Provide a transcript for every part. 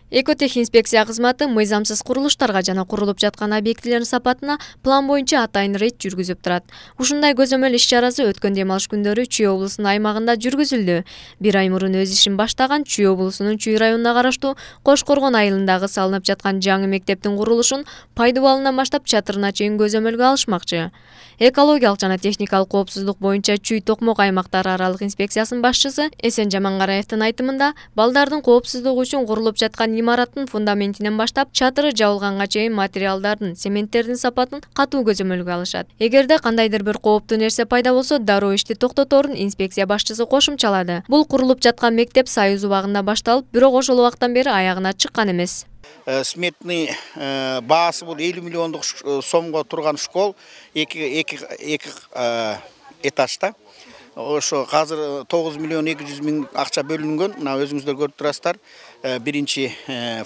Экотех инспекция кызматы мыйзамсыз курулуштарга жана курулуп жаткан объектилердин сапатына план боюнча атайын рейд жүргүзүп турат. Ушундай көзөмөл иш-чарасы өткөн дем алыш күндөрү Чүй облусунун аймагында жүргүзүлдү. Бир ай мурун өз ишин баштаган Чүй облусунун Чүй районуна караштуу Кошкоргон айылындагы салынып жаткан жаңы мектептин курулушун пайдубалынан баштап чатырына чейин көзөмөлгө алышмакчы. Экологиялык жана техникалык коопсуздук боюнча Чүй Токмок аймактары аралык инспекциясынын башчысы Эсен Жамангараевдин айтымында, балдардын коопсуздугу үчүн курулуп жаткан имараттын фундаментинен баштап чатыры жабылганга чейин материалдардын, цементтердин сапатын катуу көзөмөлгө алышат. Эгерде кандайдыр бир кооптуу нерсе пайда болсо, дароо ишти токтоторун инспекция башчысы кошумчалады. Бул курулуп жаткан мектеп Союз убагында башталып, бирок ошол убактан бери аягына чыккан эмес. Сметный баасы бул 50 миллиондук сомго турган школ, эки этажда. Ошо азыр 9 миллион 200 миң акча бөлүнгөн. Мына өзүңүздөр көрүп турасыздар. Биринчи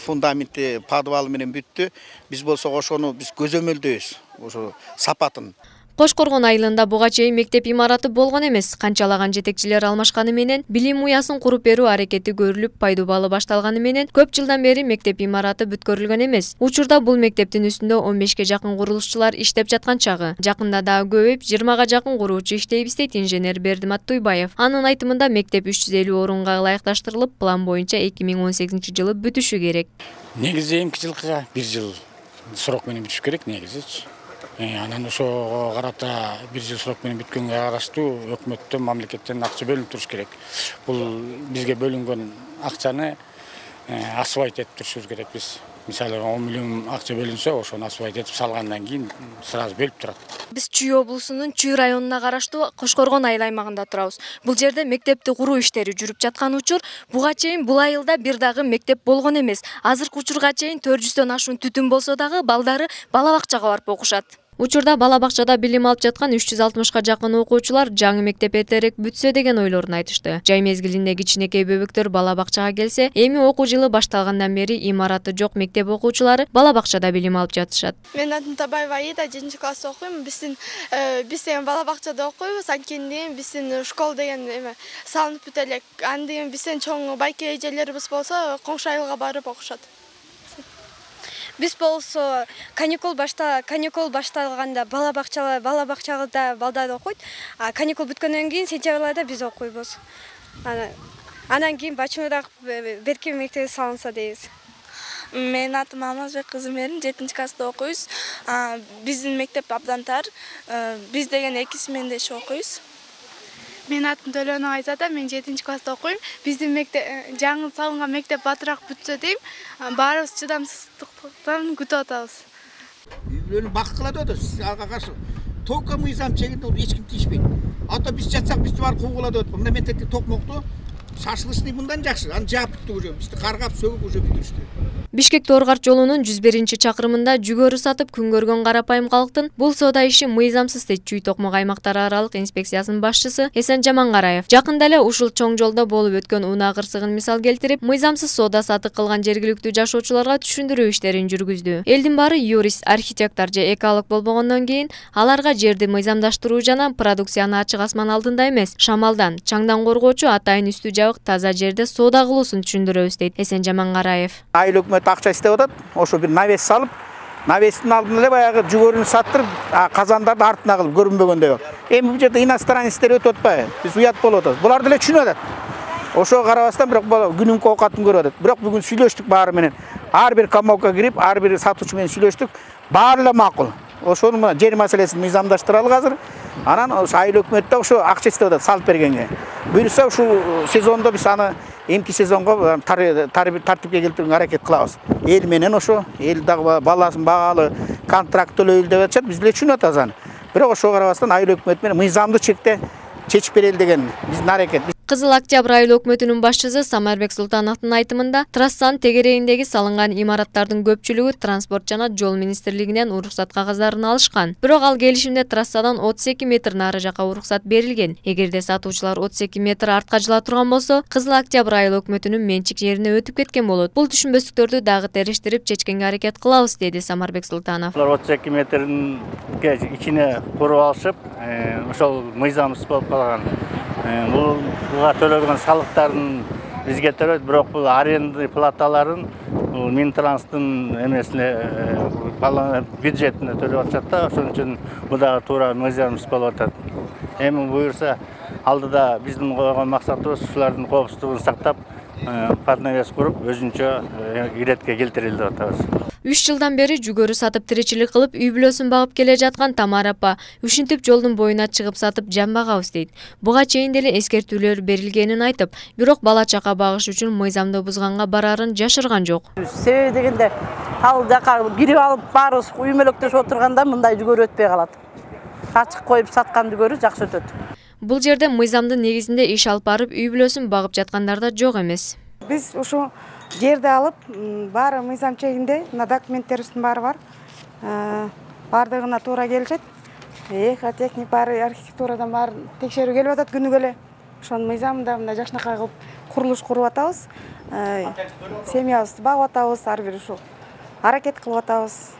фундаменти подвалы менен бүттү. Биз болсо ошону биз көзөмөлдөйбүз, ошо сапатын. Кошкоргон айылында буга чейин мектеп имараты болгон эмес. Канчалаган жетекчилер алмашканы менен, билим уясын куруп берүү аракети көрүлүп, пайдубалы башталганы менен, көп жылдан бери мектеп имараты бүткөрүлгөн эмес. Учурда бул мектептин үстүндө 15ке жакын курулушчулар иштеп жаткан чагы. Жакында дагы көбөйүп, 20га жакын куруучу иштейбиз дейт инженер Бердимат Туйбаев. Анын айтымында мектеп 350 орунга ылайыкташтырылып, план боюнча 2018-жылы бүтүшү керек. Негизи эмки жылкыга 1 жыл срок менен бүтүш керек негизичи. Анан ошого карата 1 жыл срок менен бүткөнгө караштуу өкмөттөн, мамлекеттен акча бөлүнүп туруш керек. Бул бизге бөлүнгөн акчаны асфальт этип турушубуз керек биз. Мисалы 10 миллион акча бөлүнсө, ошону асфальт этип салгандан кийин сразу бөлүп турат. Биз Чүй облусунун Чүй районуна караштуу Кошкоргон айыл аймагында турабыз. Бул жерде мектепти куруу иштери жүрүп жаткан учур, буга чейин бул айылда бир дагы мектеп болгон эмес. Азыркы учурга чейин 400дөн ашуун түтүн болсо дагы балдары бала бакчага барып окушат. Учурда бала бакчада билим алып жаткан 360га жакын окуучулар жаңы мектеп эртерээк бүтсө деген ойлорун айтышты. Жай мезгилинде кичинекей бөбөктөр бала бакчага келсе, эми окуу жылы башталгандан бери имараты жок мектеп окуучулары бала бакчада билим алып жатышат. Мен атым Табаева Аида, 7-класста окуйм. Биз деген бала бакчада окуйбуз. Анткени биздин школ деген салынып бүтө элек. Андыгы бизден чоң байке эжелерибиз болсо, коңшу айылга барып окушат. Биз болсо каникул башталганда бала бакчада балдар окуйт. Каникул бүткөндөн кийин сентябрь айында биз окуйбуз. Андан кийин бачымыраак берки мектеп салынса дейбиз. Менин атым Алмазбек кызы Мерим, 7-класста окуйбуз. Биздин мектеп абдан тар. Биз деген 2 смендеш окуйбуз. Менин атым Төлөнөк Айзада, мен 7-класста окуйм. Биздин мектеп жаңы салынган мектеп батыраак бүтсө дейм. Баарыбыз чыдамсыздыктан күтүп атабыз. Үйлөрүн бак кылат атабыз, ага каршы. Только мыйзам чегинде эч ким тийишпейт. Ата биз жатсак бизди барып куугулат атат. Мында мектепти Токмокту шашылышный мындан жакшы. Аны жаап бүттү уже. Бизди каргап сөгүп уже бүтүрүштү. Бишкек-Торгарт жолунун 101-чакырымында жүгөрү сатып күн көргөн карапайым калктын бул соода иши мыйзамсыз дейт Чүй Токмок аймактары аралык инспекциясынын башчысы Эсен Жамангараев. Жакында эле ушул чоң жолдо болуп өткөн унаа кырсыгын мисал келтирип, мыйзамсыз соода сатык кылган жергиликтүү жашоочуларга түшүндүрүү иштерин жүргүздү. Элдин баары юрист, архитектор же эколог болбогондон кийин аларга жерди мыйзамдаштыруу жана продукцияны ачык асман алдында эмес, шамалдан, чаңдан коргоочу атайын үстү жабык таза жерде соода кылуусун түшүндүрөбүз дейт Эсен Жамангараев. Акча иштеп атат, ошо бир навес салып, навестин алдына эле баягы жүгөрүнү саттырып, казандарды артына кылып көрүнбөгөндөй. Эми бул жерде иностранецтер өтүп атпайбы? Биз уят болуп атабыз. Булар деле түшүнүп атат. Ошого карабастан бирок күнүмкү оокатын көрүп атат. Бирок бүгүн сүйлөштүк баары менен. Ар бир коммуналка кирип, ар бир сатуучу менен сүйлөштүк. Баары эле макул. Ошону жер маселесин мыйзамдаштыралы азыр. Анан ошо айыл өкмөт да ошо акча иштеп атат салып бергенге. Буюрса ушул сезондо биз аны эмки сезонго тартипке келтирүүгө аракет кылабыз. Эл менен ошо эл дагы баласын багалы контракт төлөйлү деп атышат, биз деле түшүнүп атабыз аны. Бирок ошого карабастан айыл өкмөт менен мыйзамдуу чекте чечип берели деген биздин аракет. Кызыл Октябрь айыл өкмөтүнүн башчысы Самарбек Султановдун айтымында, трассанын тегерегиндеги салынган имараттардын көпчүлүгү транспорт жана жол министрлигинен уруксат кагаздарын алышкан. Бирок ал келишимде трассадан 32 метр нары жака уруксат берилген. Эгерде сатуучулар 32 метр артка жыла турган болсо, Кызыл Октябрь айыл өкмөтүнүн менчик жерине өтүп кеткен болот. Бул түшүнбөстүктөрдү дагы териштирип чечкенге аракет кылабыз, деди Самарбек Султанов. 32 метрдин ичине куруп алышып, ошол мыйзамсыз болуп калган. Буга төлөгөн салыктардын бизге төлөйт, бирок бул аренда платаларын Минтранстын эмесине бюджетине төлөп атышат да, ошон үчүн бул дагы туура мыйзамсыз болуп атат. Эми буюрса алдыда биздин койгон максатыбыз ушулардын коопсуздугун сактап, партнерияс куруп, өзүнчө иретке келтирели деп атабыз. 3 жылдан бери жүгөрү сатып тиричилик кылып, үй бүлөсүн багып келе жаткан Тамара апа ушинтип жолдун боюна чыгып сатып жамбагабыз дейт. Буга чейин деле эскертүүлөр берилгенин айтып, бирок бала чака багыш үчүн мыйзамды бузганга барарын жашырган жок. Себеби дегенде ал жака кирип алып баарыбыз үймөлөктөшүп отурганда мындай жүгөрү өтпөй калат. Ачык коюп саткан жүгөрү жакшы өтөт. Бул жерде мыйзамдын негизинде иш алып барып, үй бүлөсүн багып жаткандар да жок эмес. Биз ушу жерди алып, баары мыйзам чегинде, мына документтерибиздин баары бар. Бардыгына туура келишет. Техник баары, архитектурадан баары текшерүү келип атат күнүгө эле. Ошонун мыйзамында мына жакшынакай кылып курулуш куруп атабыз. Семьябызды багып атабыз, ар бир ушу аракет кылып атабыз.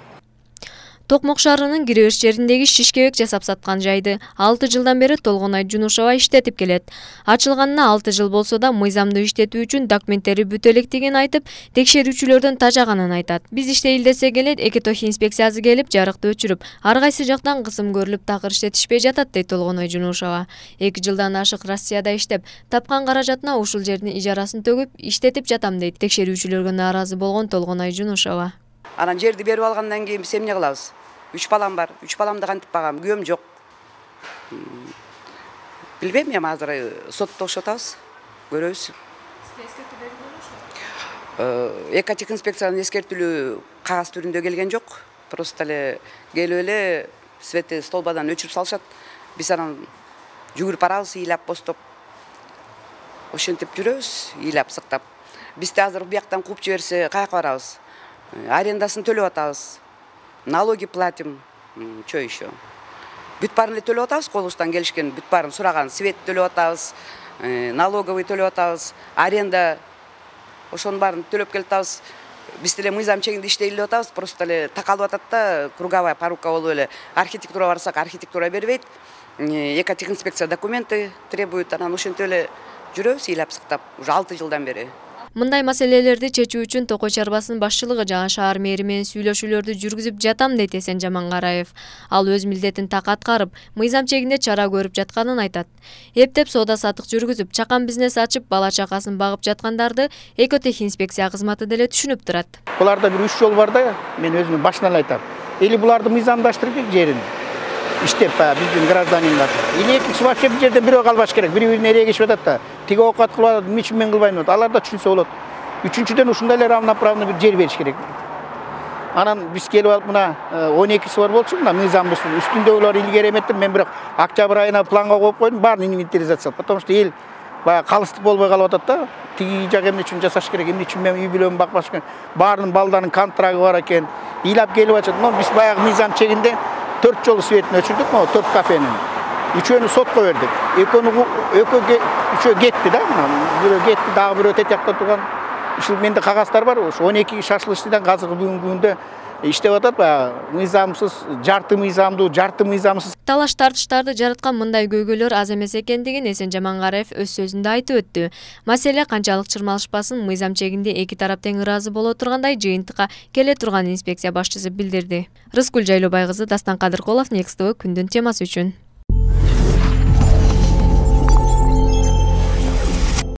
Токмок шаарынын киребиш жериндеги шишкебек жасап саткан жайды 6 жылдан бери Толгонай Жунушова иштетип келет. Ачылганына 6 жыл болсо да мыйзамды иштетүү үчүн документтери бүтө электигин айтып, текшерүүчүлөрдөн тажаганын айтат. Биз иштейли десек эле экотох инспекциясы келип, жарыкты өчүрүп, ар кайсы жактан кысым көрүлүп такыр иштетишпей жатат дейт Толгонай Жунушова. 2 жылдан ашык Россияда иштеп, тапкан каражатына ушул жердин ижарасын төгүп, иштетип жатам дейт текшерүүчүлөргө нааразы болгон Толгонай Жунушова. Анан жерди берип алгандан кийин биз эмне кылабыз? 3 балам бар. 3 баламды кантип багам? Күйөөм жок. Билбейм, эми азыр сотто окшотабыз. Көрөбүз. Экотех инспекциянын эскертүүлү кагаз түрүндө келген жок. Просто эле келип эле светти столбадан өчүрүп салышат. Биз анан жүгүрүп барабыз, ыйлап бостоп. Ошентип жүрөбүз, ыйлап сыктап. Бизди азыр бияктан кууп жиберсе, каяка барабыз? Арендасын төлөп атабыз. Налоги платим, что еще? Бүт баарын эле төлөп атабыз, колубуздан келишкен, бүт баарын сураган, свет төлөп атабыз, налоговый төлөп атабыз, аренда ошонун баарын төлөп келатабыз. Биз деле мыйзам чегинде иштейли деп атабыз, просто эле такалып атат да, круговая порука болуп эле. Архитектура барсак, архитектура бербейт. Экотех инспекция документы требует, анан ошентип эле жүрөбүз, ыйлап сыктап, уже 6 жылдан бери. Мындай маселелерди чечүү үчүн Токой чарбасынын башчылыгы жана шаар мэри менен сүйлөшүүлөрдү жүргүзүп жатам дейт Эсен Жамангараев. Ал өз милдетин так аткарып, мыйзам чегинде чара көрүп жатканын айтат. Эптеп соода сатык жүргүзүп, чакан бизнес ачып, бала чакасын багып жаткандарды экотех инспекция кызматы деле түшүнүп турат. Буларда бир 3 жол бар да, мен өзүм башынан айтам. Или буларды мыйзамдаштырып жерин иштеп биздин гражданиндар. Или экинчи вообще бир жерден бирөө калбаш керек. Бири-бирин эрегишип атат да. Тиги оокат кылып атат, эмне үчүн мен кылбайм деп. Алар да түшүнсө болот. Үчүнчүдөн ушундай эле равноправный бир жер бериш керек. Анан биз келип алып мына 12 бар болчу, мына мыйзамбыз үстүндөгүлөр илгери эметтим. Мен бирок октябрь айына планга коюп койдум, баарын инвентаризация, потому что эл баягы калыстык болбой калып атат да. Тиги жак эмне үчүн жасаш керек, эмне үчүн мен үй бүлөмдү бакпаш керек. Баарынын балдарынын контрагы бар экен. Ыйлап келип атат. Но биз баягы мыйзам чегинде 4 жолу светин өчүрдүк, могу 4 кафенин. Үчөөнү сотко бердик. Үчөө кетти да. Бирөө кетти, дагы бирөө тетиякта турган. Ушул менде кагаздар бар. Ошо 12 шашлычтыдан азыркы бүгүнкү күндө иштеп атат. Баягы мыйзамсыз, жарты мыйзамдуу, жарты мыйзамсыз. Талаш тартыштарды жараткан мындай көйгөйлөр аз эмес экендигин Эсен Жамангараев өз сөзүндө айтып өттү. Маселе канчалык чырмалышпасын, мыйзам чегинде эки тарап тең ыраазы боло тургандай жыйынтыкка келе турган инспекция башчысы билдирди. Рыскүл Жайлообай кызы, Дастан Кадыркулов, Next TV күндүн темасы үчүн.